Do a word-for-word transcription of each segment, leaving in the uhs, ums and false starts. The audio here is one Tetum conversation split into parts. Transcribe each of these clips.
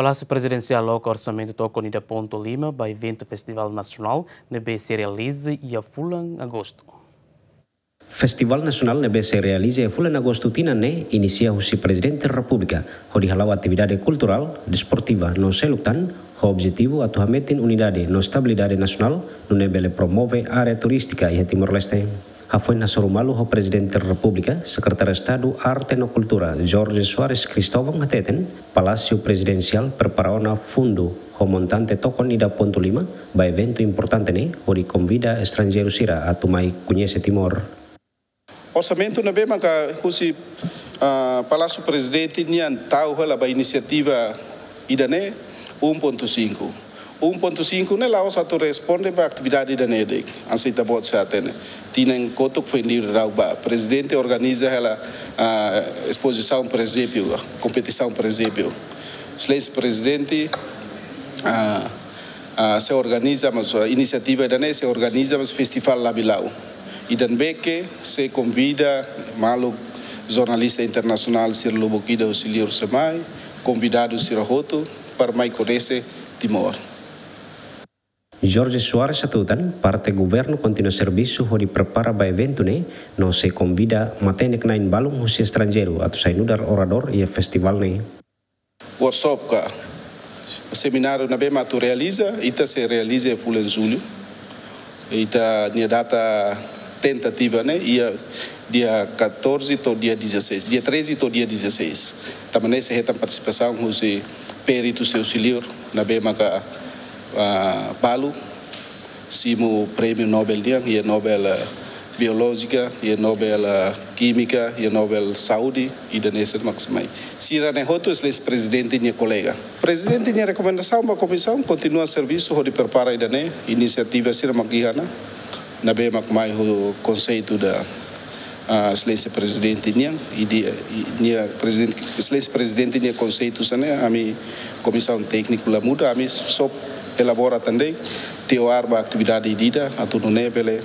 Palásiu Prezidensiál loka orsamentu tokon ida pontu lima ba eventu Festivál Nasionál ne'ebé sei realiza iha fulan Agostu. Festivál Nasionál ne'ebé sei realiza iha fulan Agostu tinan ne'e inisia husi Prezidente Repúblika, hodi hala'o atividade kulturál, desportiva no seluk tan, ho objetivu atu hametin unidade no estabilidade nasionál, nune'e bele promove área turístika iha Timor-Leste. Hafoin hasoru malu ho Prezidente Repúblika, Sekretáriu Estadu Arte no Kultura, Jorge Soares Cristóvão hateten, Palásiu Prezidensiál prepara ona fundu ho montante tokon ida pontu lima ba eventu importante ne'e, hodi konvida estranjeiru sira atu mai koñese Timor. Orsamentu ne'ebé maka husi, ah, Palásiu Prezidente nian tau hela ba inisiativa ida-ne'e, um ponto cinco. Um ponto cinco ne'e la'ós atu responde ba atividade ida-ne'e de'it. Hanesan ita-boot sei hatene. Tinan kotuk foin liurai daudaun ba. Prezidente organiza hela, ah, espozisaun presépiu, kompetisaun presépiu. Exelénsia Prezidente, ah, ah, sei organiza, mas, ah, inisiativa ida-ne'e sei organiza, mas festivál Labillau. Ida-ne'ebé ke sei konvida maluk jornalista internasionál sira lubuk ida husi liur sei mai, konvidadu sira hotu para mai koñese Timor. Jorge Soares hatutan, parte governu kontinua servisu hodi prepara ba eventu ne'e, no sei konvida matenek-na'in balun husi estranjeiru atu sai nu'udar oradór iha festivál ne'e. Workshop ka semináriu ne'ebé mak atu realiza, ita sei realiza iha fulan Jullu. Ita-nia data tentativa ne'e iha dia catorze to'o dia dezasseis, dia treze to'o dia dezasseis. Tanba ne'e sei hetan partisipasaun husi peritu sira husi liur ne'ebé maka, ah, balu simu prémiu Nobel nian, iha Nobel, eh, Biolójika, iha Nobel, eh, Kímika, iha Nobel Saúde, ida-ne'e sira mak sei mai. Sira-ne'e hotu Exelénsia Prezidente nia kolega. Prezidente nia rekomendasaun ba komisaun kontinua servisu hodi prepara ida-ne'e, inisiativa sira mak iha ona, ne'ebé mak mai ho konseitu da, ah, Exelénsia Prezidente nian, i di, i, nia Prezidente, Exelénsia Prezidente nia konseitu sira-ne'e, ami komisaun tékniku la muda, ami só elabora tan de'it, teoria ba atividade ida-idak, atu nune'e bele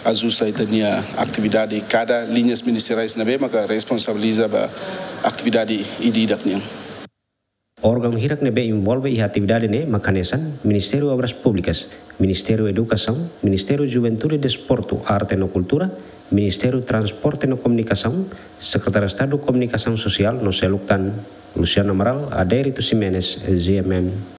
ajusta ita-nia atividade kada liñas ministeriais ne'ebé maka responsabiliza ba atividade ida-idak nian. Órgaun hirak ne'ebé envolve iha atividade ne'e mak hanesan Ministériu Obras Públikas, Ministériu Edukasaun, Ministériu Juventude, Desportu, Arte no Kultura, Ministériu Transporte no Komunikasaun, Sekretáriu Estadu Komunikasaun Sosiál no seluk tan. Luciano Amaral, Adérito Ximenes, G M N.